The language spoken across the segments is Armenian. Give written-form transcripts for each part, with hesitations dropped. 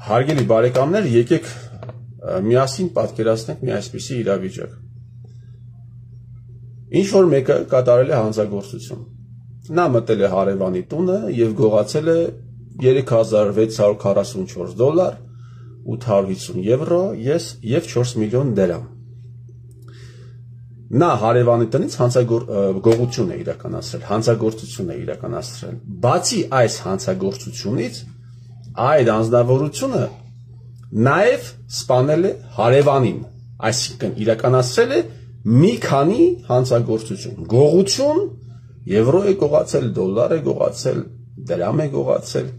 Հարգելի բարեկամներ, եկեք միասին պատկերացնենք մի այսպիսի իրավիճակ։ Ինչ որ մեկը կատարել է հանցագործություն։ Նա մտել է հարևանի տունը եւ գողացել է $3644, 850 եվրո եւ 4 միլիոն դրամ։ Նա հարևանի տնից գողություն է իրականացրել, հանցագործություն է իրականացրել։ Բացի այս հանցագործությունից, այդ անձնավորությունը նաև սպանել է հարևանին, այսինքն իրականացրել է մի քանի հանցագործություն, գողություն, եվրո է գողացել, դոլար է գողացել, դրամ է գողացել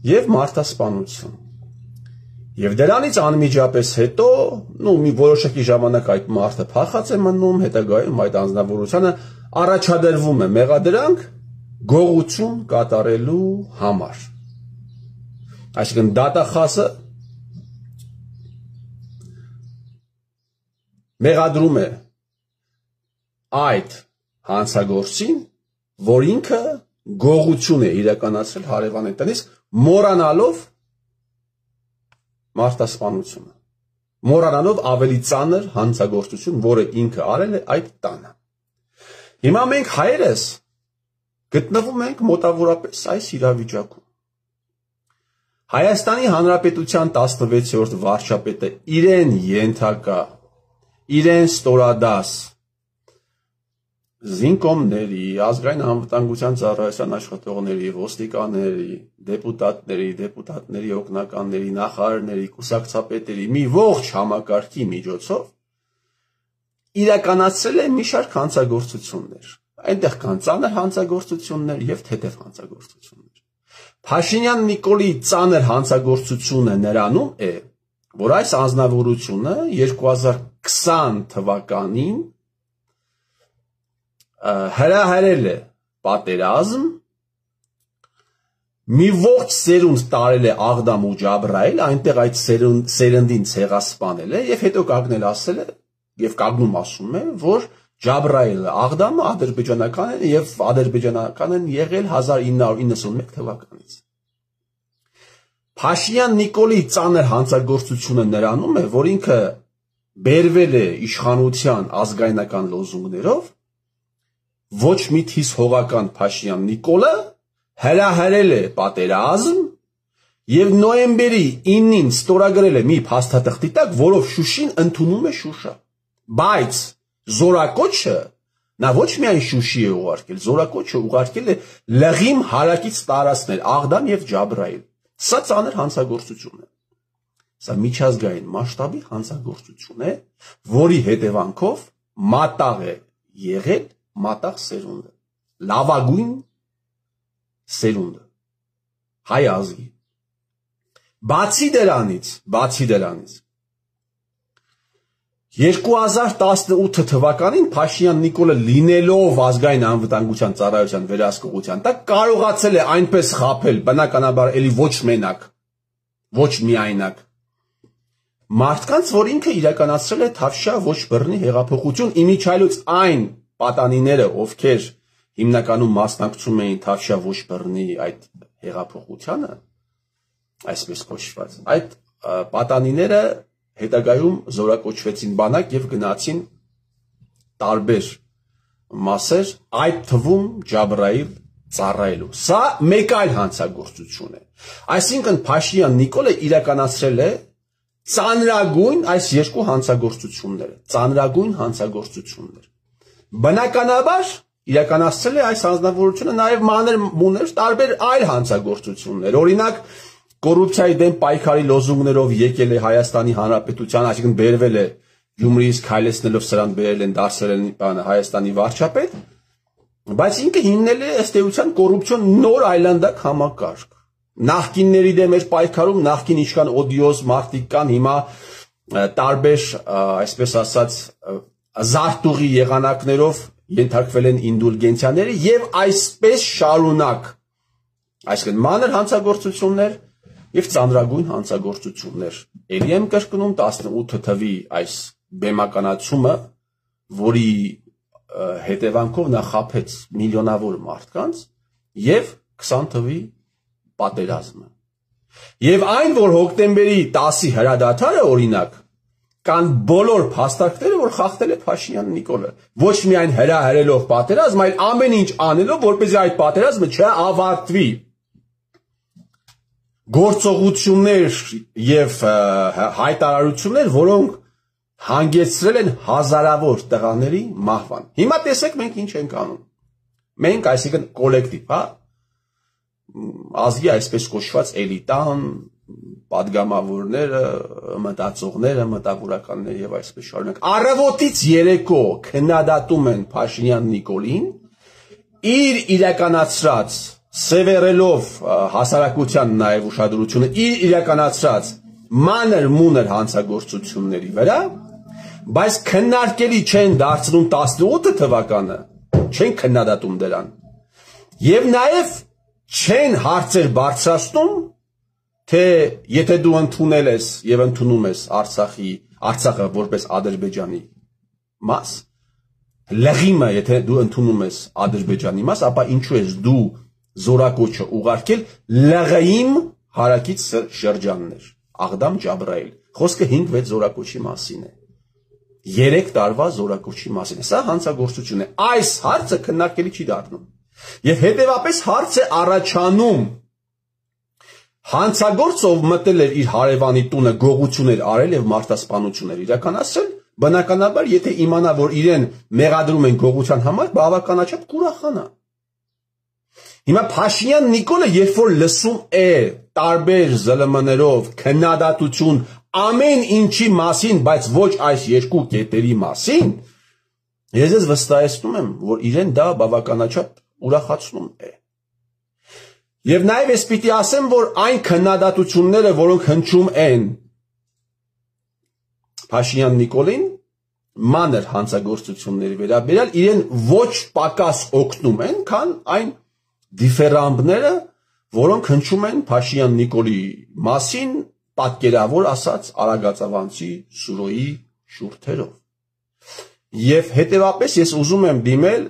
եւ մարդասպանություն։ Եվ դրանից անմիջապես հետո, մի որոշակի ժամանակ այդ մարդը փախած է մնում, հետագայում այդ անձնավորությունը առաջադրվում է մեղադրանք գողություն կատարելու համար։ Այսինքն դատախազը մեղադրում է այդ հանցագործին, որ ինքը գողություն է իրականացրել հարևանի տնից, մոռանալով մարդասպանությունը, մոռանալով ավելի ծանր հանցագործություն, որը ինքը արել է այդ տանը։ Հիմա մենք հայերս գտնվում ենք մոտավորապես այս իրավիճակում։ Հայաստանի Հանրապետության 16-րդ վարչապետը իրեն ենթակա, իրեն ստորադաս զինկոմների, ազգային անվտանգության ծառայության աշխատողների, ոստիկանների, դեպուտատների օգնականների, նախարարների, կուսակցապետերի մի ողջ համակարգի միջոցով իրականացրել է մի շարք հանցագործություններ։ Այնտեղ կան ծանր հանցագործություններ եւ թեթև հանցագործություններ։ Փաշինյան Նիկոլի ծանր հանցագործությունը նրանում է, որ այս անձնավորությունը 2020 թվականին հրահրել է պատերազմ, մի ողջ սերունդ տարել է Աղդամ ու Ջաբրայել, այնտեղ այդ սերնդին ցեղասպանել է եւ հետո կանգնել ասել է եւ կանգնում ասում է, որ Ջաբրայելը Աղդամը ադրբեջանական է եւ ադրբեջանական են եղել 1991 թվականից։ Փաշինյան Նիկոլի ծանր հանցագործությունը նրանում է, որ ինքը բերվել է իշխանության ազգայնական լոզունգներով, ոչ մի թիս հողական Փաշինյան Նիկոլը հրահրել է պատերազմ եւ նոյեմբերի 9-ին ստորագրել է մի փաստաթղթի տակ, որով Շուշին ընդունում է Շուշա։ Բայց զորակոչը նա ոչ միայն Շուշի է ուղարկել, զորակոչը ուղարկել է լղիմ հարակից տարածքներ, Աղդամ եւ Ջաբրայել։ Սա ծանր հանցագործություն է։ Սա միջազգային մասշտաբի հանցագործություն է, որի հետևանքով մատաղ է եղել մատաղ սերունդը, լավագույն սերունդը, հայ ազգի։ Բացի դրանից 2018 թվականին Փաշինյան Նիկոլը լինելով ազգային անվտանգության ծառայության վերահսկողության տակ կարողացել է այնպես խաբել, բնականաբար էլի ոչ մենակ, ոչ միայնակ, մարդկանց, որ ինքը իրականացրել է Թավշյա ոչ բռնի հեղափոխություն, իմիջիայլոց այն պատանիները, ովքեր հիմնականում մասնակցում էին Թավշյա ոչ բռնի այդ հեղափոխությանը, այսպես կոչված, այդ պատանիները հետագայում զորակոչվեցին բանակ եւ գնացին տարբեր մասեր, այդ թվում Ջաբրայել ծառայելու։ Սա մեկ այլ հանցագործություն է։ Այսինքն Փաշինյան Նիկոլը իրականացրել է ծանրագույն այս երկու հանցագործությունները, ծանրագույն հանցագործություններ։ Բնականաբար իրականացրել է այս անձնավորությունը նաև մանր-մուներ տարբեր այլ հանցագործություններ։ Օրինակ, կոռուպցիայի դեմ պայքարի լոզունգներով եկել է Հայաստանի Հանրապետության, այսինքն բերվել է Գյումրիից քայլեցնելով սրան բերել են դարձրել են Հայաստանի վարչապետ, բայց ինքը հիմնել է ըստ էության կոռուպցիոն նոր այլանդակ համակարգ։ Նախկինների դեմ էր պայքարում, նախկին ինչքան օդիոզ մարդիկ կան, հիմա տարբեր, այսպես ասած, զարտուղի եղանակներով ենթարկվել են ինդուլգենցիաների եւ այսպես շարունակ։ Այսինքն մանր հանցագործություններ եւ ծանրագույն հանցագործություններ։ Էլի եմ կրկնում 18 թվի այս բեմականացումը, որի հետևանքով նա խաբեց միլիոնավոր մարդկանց եւ 20 թվի պատերազմը։ Եվ այն, որ հոկտեմբերի 10-ի հրադադարը օրինակ, կան բոլոր փաստարկները, որ խախտել է Փաշինյան Նիկոլը։ Ոչ միայն հրահրելով պատերազմ, այլ ամեն ինչ անելով, որպեսզի այդ պատերազմը չավարտվի։ Գործողություններ եւ հայտարարություններ, որոնք հանգեցրել են հազարավոր տղաների մահվան։ Հիմա տեսեք մենք ինչ ենք անում։ Մենք, այսինքն կոլեկտիվ, հա, ազգի այսպես կոչված էլիտան, պատգամավորները, մտածողները, մտավորականները եւ այսպես շարունակ առավոտից երեկո քննադատում են Փաշինյան Նիկոլին իր իրականացրած սևեռելով հասարակության նաեւ ուշադրությունը իր իրականացրած մանր-մունր հանցագործությունների վրա, բայց քննարկելի չեն դարձնում 18 թվականը, չեն քննադատում դրան եւ նաեւ չեն հարցեր բարձրացնում, թե եթե դու ընդունել ես եւ ընդունում ես Արցախը որպես Ադրբեջանի մաս, լղիմը եթե դու ընդունում ես Ադրբեջանի մաս, ապա ինչու ես դու զորակոչը ուղարկել լղիմ հարակից շրջաններ, Աղդամ Ջաբրայել, խոսքը 5-6 զորակոչի մասին է, 3 տարվա զորակոչի մասին է, սա հանցագործություն է, այս հարցը քննարկելի չի դառնում, եւ հետեւապես հարց է առաջանում հանցագործով մտել էր իր հարևանի տունը գողություններ արել եւ մարտասպանություններ իրականացրել, բնականաբար եթե իմանա, որ իրեն մեղադրում են գողության համար, բավականաչափ կուրախանա։ Հիմա Փաշինյան Նիկոլը, երբ որ լսում է տարբեր ԶԼՄ-ներով քննադատություն ամեն ինչի մասին, բայց ոչ այս երկու կետերի մասին, ես ես վստահեցնում եմ, որ իրեն դա բավականաչափ ուրախացնում է։ Եվ նաև ես պիտի ասեմ, որ այն քննադատությունները, որոնք հնչում են Փաշինյան Նիկոլին, մանր հանցագործությունների վերաբերյալ, իրեն ոչ պակաս օգնում են, քան այն դիֆերամբները, որոնք հնչում են Փաշինյան Նիկոլի մասին, պատկերավոր ասած Արագածավանցի Սուրոյի շուրթերով։ Եվ հետևապես ես ուզում եմ դիմել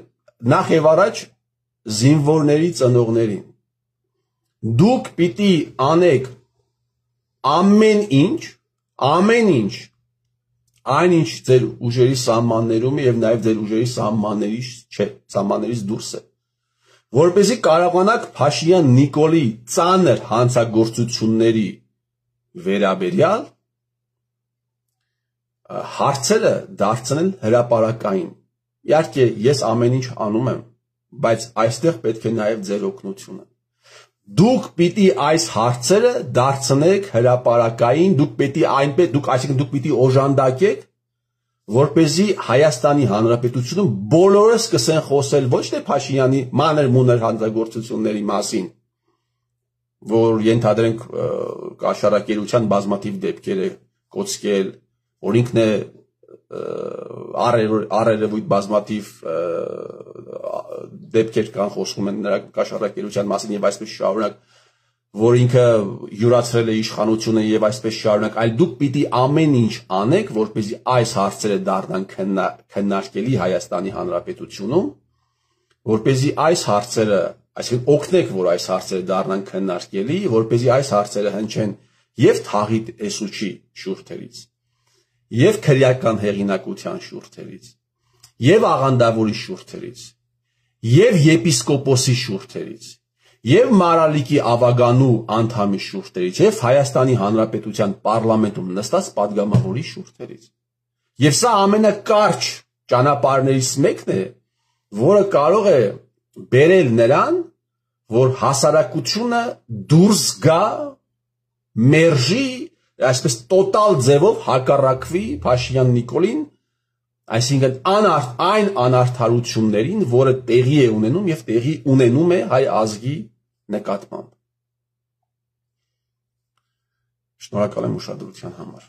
նախ եւ առաջ զինվորների ծնողներին։ Դուք պիտի անեք ամեն ինչ, այն ինչ ձեր ուժերի սահմաններում եւ նաեւ ձեր ուժերի սահմաններից դուրս է, որպեսզի կարողանաք Փաշինյան Նիկոլի ծանր հանցագործությունների վերաբերյալ հարցերը դարձնել հրապարակային։ Իհարկե ես ամեն ինչ անում եմ, բայց այստեղ պետք է նաեւ ձեր օգնությունը։ Դուք պիտի այս հարցերը դարձնեք հրապարակային, դուք պիտի օժանդակեք, որպեսզի Հայաստանի Հանրապետությունում բոլորը սկսեն խոսել ոչ թե Փաշինյանի մանր-մունր հանցագործությունների մասին, որ ենթադրենք կաշառակերության բազմաթիվ դեպքեր է կոչկել, որ ինքն է առերևույթ բազմաթիվ դեպքեր կան խոսում են նրա կաշառակերության մասին եւ այսպես շարունակ, որ ինքը յուրացրել է իշխանությունը եւ այսպես շարունակ, այլ դուք պիտի ամեն ինչ անեք, որպեսզի այս հարցերը դառնան քննարկելի Հայաստանի Հանրապետությունում, որպեսզի այս հարցերը, այսինքն օգնեք, որ այս հարցերը դառնան քննարկելի, որպեսզի այս հարցերը հնչեն եւ թաղի տեսուչի շուրթերից, եւ քրեական հեղինակության շուրթերից, եւ աղանդավորի շուրթերից, եւ եպիսկոպոսի շուրթերից, եւ Մարալիկի ավագանու անդամի շուրթերից, եւ Հայաստանի Հանրապետության պարլամենտում նստած պատգամավորի շուրթերից։ Եվ սա ամենակարճ ճանապարհներից մեկն է, որը կարող է բերել նրան, որ հասարակությունը դուրս գա, մերժի, այսպես տոտալ ձևով հակառակվի Փաշինյան Նիկոլին, այսինքն այն անարդարություններին, որը տեղի է ունենում եւ տեղի ունենում է հայ ազգի նկատմամբ։ Շնորհակալ եմ ուշադրության համար։